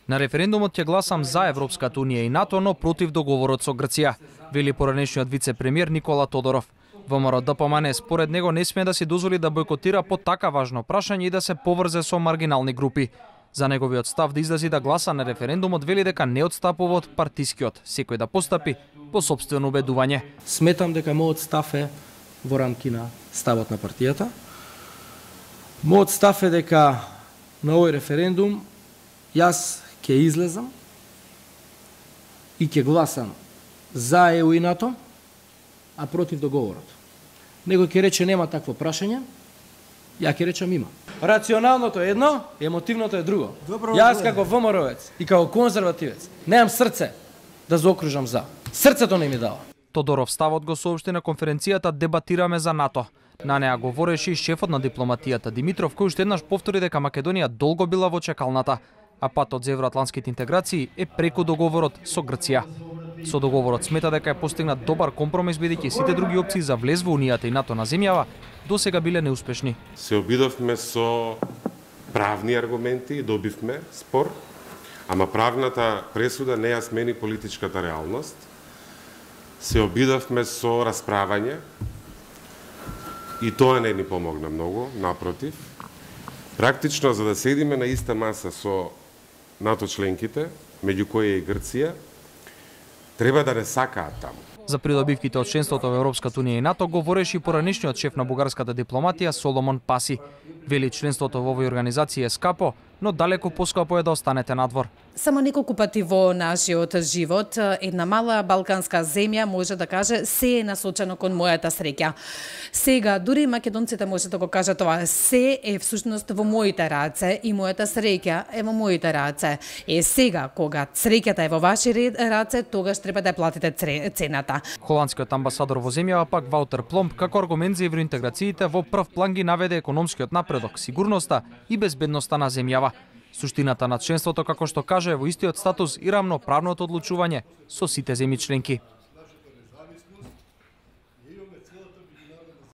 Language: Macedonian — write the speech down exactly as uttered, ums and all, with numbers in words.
На референдумот ќе гласам за Европската унија и НАТО, но против договорот со Грција, вели поранешниот вице-премиер Никола Тодоров. ВМРО Д П М Н според него не смее да си дозволи да бойкотира по така важно прашање и да се поврзе со маргинални групи. За неговиот став да излези да гласа на референдумот вели дека не отстапува од партискиот, секој да постапи по сопствено убедување. Сметам дека мојот став е во рамки на ставот на партијата. Мојот став е дека на овој референдум јас ќе излезам и ќе гласам за Е У и НАТО, а против договорот. Некој ќе рече нема такво прашање, ја ќе речам има. Рационалното е едно, емотивното е друго. Добро, јас како ВМРО-вец и како конзервативец немам срце да заокружам за. Срцето не ми дава. Тодоров ставот го соопшти на конференцијата Дебатираме за НАТО. На неа говореше и шефот на дипломатијата Димитров, кој уште еднаш повтори дека Македонија долго била во чекалната, а патот за евроатлантските интеграции е преку договорот со Грција. Со договорот смета дека е постигнат добар компромис, бидејќи сите други опции за влез во Унијата и НАТО на земјава досега биле неуспешни. Се обидовме со правни аргументи и добивме спор, ама правната пресуда не ја смени политичката реалност. Се обидовме со расправање и тоа не ни помогна многу, напротив. Практично, за да седиме на иста маса со НАТО членките, меѓу кои е и Грција, треба да не сакаат таму. За придобивките од членството во Европската унија и НАТО говореше и поранешниот шеф на бугарската дипломатија Соломон Паси. Вели членството во овој организација е скапо, но далеку поскапо е да останете надвор. Само неколку пати во нашиот живот една мала балканска земја може да каже се е насочено кон мојата среќа. Сега дури македонците може да го кажат тоа, се е всушност во моите раце и мојата среќа е во моите раце. Е сега кога среќата е во ваши раце, тогаш треба да ја платите цената. Холандскиот амбасадор во земјава пак Ваутер Пломб како аргумент за евроинтеграциите во прв план ги наведе економскиот напредок, сигурноста и безбедноста на земјава. Суштината на членството, како што каже, е во истиот статус и рамноправното одлучување со сите земји членки.